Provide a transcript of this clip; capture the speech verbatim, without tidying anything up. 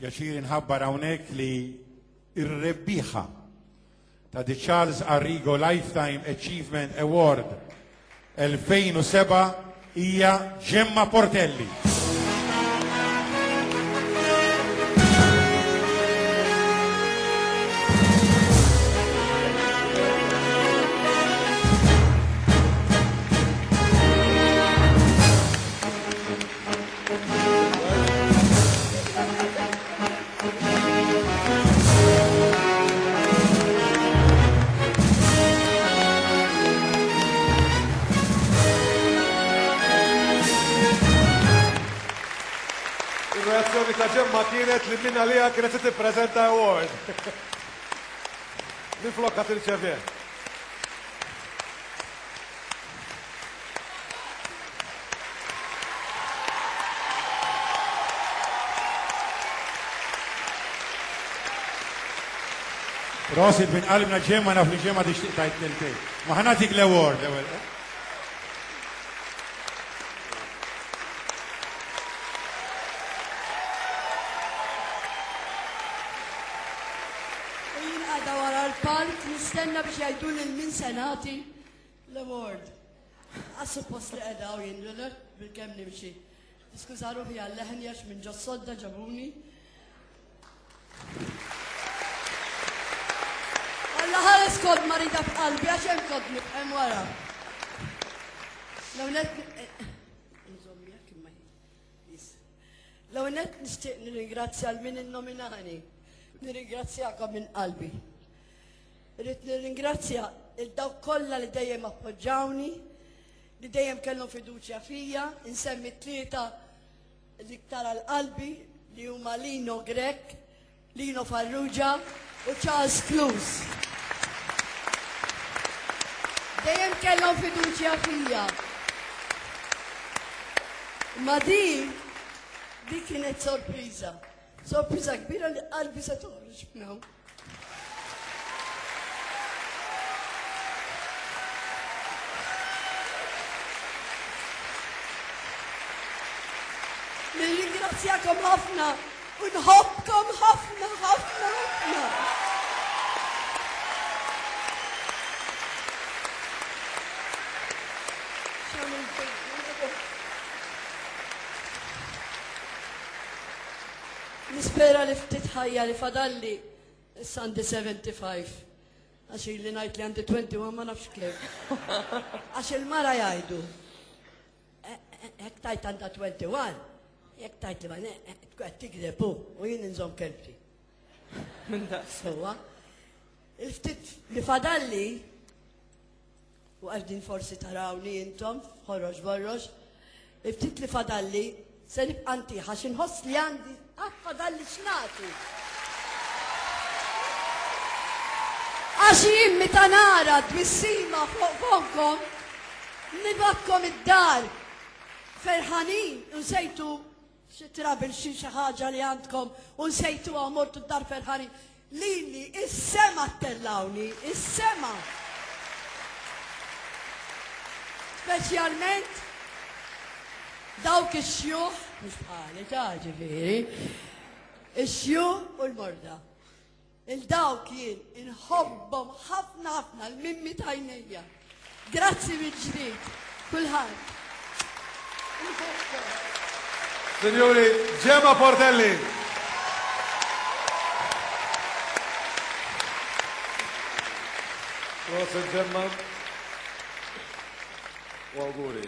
Pjaċir inħabbar hawnhekk li ir-rebbieħa ta' The Charles Arrigo Lifetime Achievement Award elfejn u sebgħa hija Gemma Portelli. Il-reazzjoni ta' Ġemma kienet li minna liha kienet se tippreżenta award. Minflok qed tirċevih. Prosit minn qalbna Ġemma, naf li Ġemma tixtieq tgħid kelmtejn. Ma ħa nagħtik l-award l-ewwel. U jien għadha wara l-palk nistenna biex jgħidu lil min se nagħti l-award. Għas suppost li qiegħda u jien bil-kemm nimxi. Niskuża ruħi għal-leħen għax minn ġo sodda ġabuni. Alla ħares kont marida f'qalbi għax hemm kont nifhem wara. L-ewwel nżomm jekk imma jis. L-ewwel nett nixtieq nirringrazzja l min innominani. Nirringrazzjakom minn qalbi. Irrid nirringrazzja il dawk kollha li dejjem appoġġawni, li dejjem kellhom fiduċja fija, insemmi tlieta l-iktar għal qalbi li huma Lino Grech, Lino Farrugia u Charles Clews. Dejjem kellhom fiduċja fija. Ma di, di kienet sorpriża. Sorpriża kbira li qalbi se toħroġ minn hawn. Nirringrazzjakom ħafna u nħobbkom ħafna, ħafna, ħafna. Nispera li ftit ħajja li fadalli issa għandi seventy-five. Għax ili ngħid li għandi twenty-one ma nafx kif. Għax il-mara jgħidu, hekk tajt għandha twenty-one, jekk tajt li ma ne, qed tikdeb hu u jien inżomm kelbti. Minn daqs. Sewwa. Il-ftit li fadalli, u qegħdin forsi tarawni intom, ħoroġ borroġ, il-ftit li fadalli se nibqa' ntih għax inħoss li għandi għad fadalli x'nagħti. Għax jien meta nara tbissima fuq fomkom, nibgħatkom id-dar ferħanin u nsejtu xi trabil xi xi ħaġa li għandkom u nsejtuha u mortu d-dar ferħanin. Lili, is-sema ttellawni, is-sema. Speċjalment dawk ix-xjuħ, mhux bħali ta' ġifieri, ix-xjuħ u l-morda. Il-dawk jien inħobbhom ħafna ħafna l-mimmi tajnejja. Grazzi mill-ġdid, kulħadd. Signori, Gemma Portelli. Prosit Gemma. U auguri.